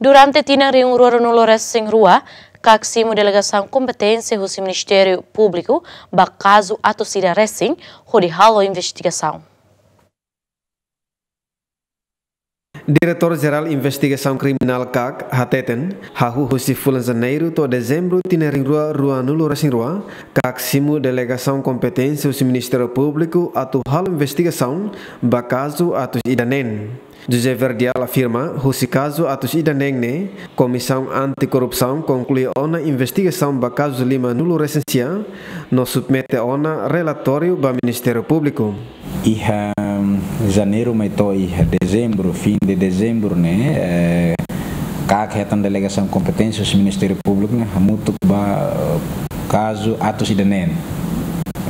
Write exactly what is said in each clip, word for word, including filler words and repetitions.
Durante tinan rihun rua ruanulu resin rua, KAK simu delegasaun kompeténsia husi Ministériu Públiku ba kazu atus ida resin hodi halo investigasaun. Diretór Jerál Investigasaun Kriminál KAK hateten, hahú husi fulan Janeiru to'o Dezembru tinan rihun rua ruanulu resin rua, KAK simu delegasaun kompeténsia husi Ministériu Públiku atu halo investigasaun ba kazu atus ida neen. José Verdial afirma, husi kazu atus ida neen ne'e, Komisaun Anti-Korrupsaun konklui ona investigasaun ba kazu limanulu resin sia, no submete ona relatóriu ba Ministériu Públiku. Iha Janeiru mai to'o iha Dezembru, fin de Dezembru ne'e, eh, KAK hetan delegasaun kompeténsia husi Ministériu Públiku ne'e hamutuk ba, eh, kazu atus ida neen.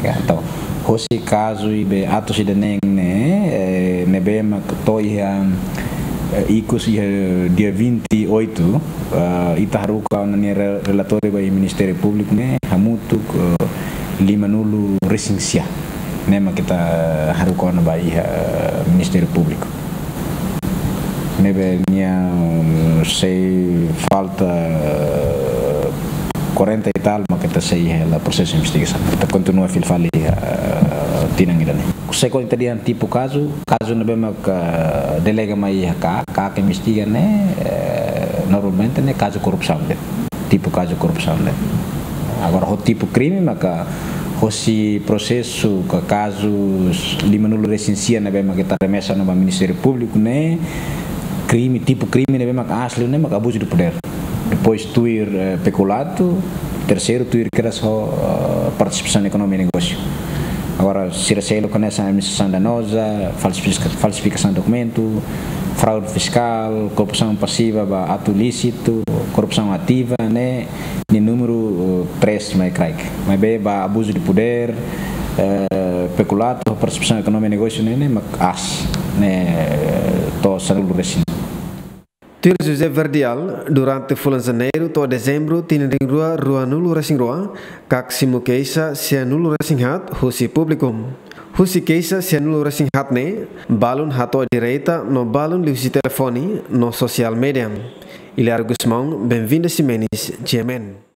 Ya, entaun, hosi kazu ne'ebé atus ida neen ne'e, eh, ne'ebé mak to'o iha, eh, ikus iha dia vinte e oito, eh, ita haruka ona nia re-, relatóriu ba iha Ministériu Públiku ne'e hamutuk, eh, limanulu resin sia. Ne'e mak ita haruka ona ba iha, eh, Ministériu Públiku. Ne'ebé nia, mm, sei falta, eh, quarenta e tal, mak ita sei hela prosesu investigasaun. Ita kontinua fila fali, eh, tinan ida ne'e. Se konta dehan tipu kazu, kazu ne'ebé mak delega mai iha KAK, KAK investiga ne'e, eh, normalmente ne'e kazu korrupsaun de'it. Tipu kazu korrupsaun de'it. Agora, ho tipu krime, maka hosi prosesu ka kazu limanulu resin sia ne'ebé mak ita remesa ona ba Ministériu Públiku ne'e, krime, tipu krime ne'ebé mak aas liu ne'e mak abuzu de podér. Depois tuir, eh, pekulato, terseiru tuir kedas ho, eh, partisipasaun ekonomia negósiu. Agora, sira seluk hanesan administrasaun danoza, falsifika-, falsifikasaun dokumentu, fraude fiskál, korrupsaun pasiva ba atu ilísitu, korrupsaun ativa, ne'e, nia númeru, eh, três mai kraik. Maibé ba abuzu de podér, eh, pekulato, partisipasaun ekonomia negósiu ne'e, ne'e mak aas, ne'e, to'o sanulu resin. Tuir José Verdial, durante fulan Janeiru to'o Dezembru tinan rihun rua ruanulu resin rua, KAK simu keixa sianulu resin haat husi públiku. Husi keixa sianulu resin haat ne'e, balun hato'o direta no balun liuhusi telefone no sosiál média. Hilario Gusmão, Benvinda Ximenes, G M N.